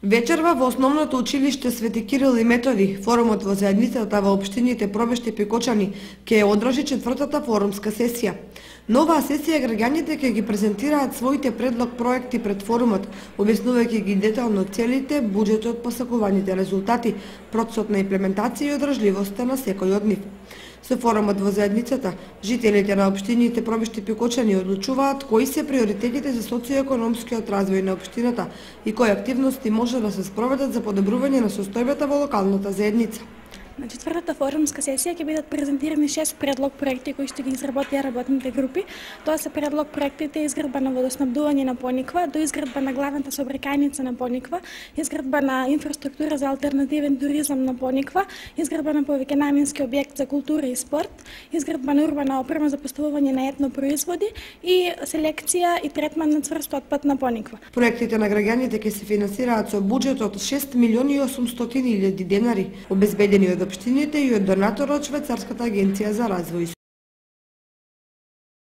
Вечерва во Основното училиште Свети Кирил и Методи, форумот во заедницата во општините Пробешти и Пекочани ќе одржи четвртата форумска сесија. На оваа сесија граѓаните ќе ги презентираат своите предлог проекти пред форумот, објаснувајќи ги детално целите, буџетот, посакуваните резултати, процесот на имплементација и одржливоста на секој од нив. Со форумот во заедницата, жителите на општините Пробешти и Пекочани одлучуваат кои се приоритетите за социоекономскиот развој на општината и кои активности може да се спроведат за подобрување на состојбата во локалната заедница. На четвртата форумска сесија ќе бидат презентирани 6 предлог проекти кои што ги изработија работните групи. Тоа се предлог проектите изградба на водоснабдување на Пониква, до изградба на главната сообраќајница на Пониква, изградба на инфраструктура за алтернативен туризам на Пониква, изградба на повеќенаменски објект за култура и спорт, изградба на урбана опрема за поставување на етно производи и селекција и третман на цврст отпад на Пониква. Проектите на граѓаните ќе се финансираат со буџет од 6.800.000 денари, обезбедени од општините и од донаторот Швајцарската агенција за развој.